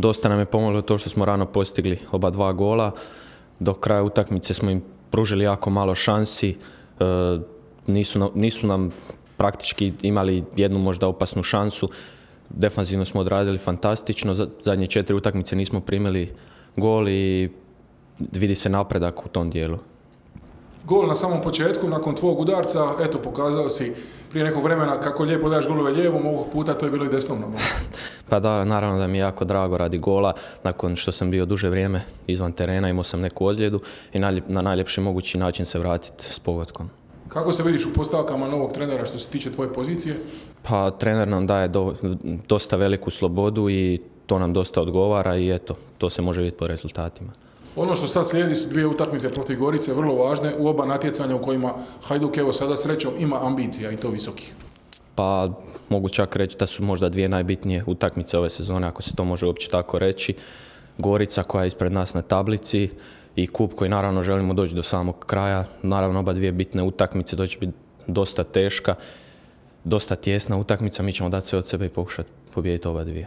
Dosta nam je pomoglo to što smo rano postigli oba dva gola. Do kraja utakmice smo im pružili jako malo šansi. Nisu nam praktički imali jednu možda opasnu šansu. Defanzivno smo odradili fantastično. Zadnje 4 utakmice nismo primili gol i vidi se napredak u tom dijelu. Gol na samom početku, nakon tvog udarca, eto, pokazao si prije nekog vremena kako lijepo daješ golove lijevom, ovog puta to je bilo i desnom nogom. Pa da, naravno da mi je jako drago radi gola, nakon što sam bio duže vrijeme izvan terena, imao sam neku ozljedu i na najljepši mogući način se vratiti s pogodkom. Kako se vidiš u postavkama novog trenera što se tiče tvoje pozicije? Pa trener nam daje dosta veliku slobodu i to nam dosta odgovara i eto, to se može vidjeti po rezultatima. Ono što sad slijedi su 2 utakmice protiv Gorice, vrlo važne, u oba natjecanja u kojima Hajduk, evo sada srećom, ima ambicija i to visokih. Pa mogu čak reći da su možda 2 najbitnije utakmice ove sezone, ako se to može uopće tako reći. Gorica koja je ispred nas na tablici i kup koji naravno želimo doći do samog kraja. Naravno oba 2 bitne utakmice, to će biti dosta teška, dosta tjesna utakmica, mi ćemo dati sve od sebe i pokušati pobijediti oba 2.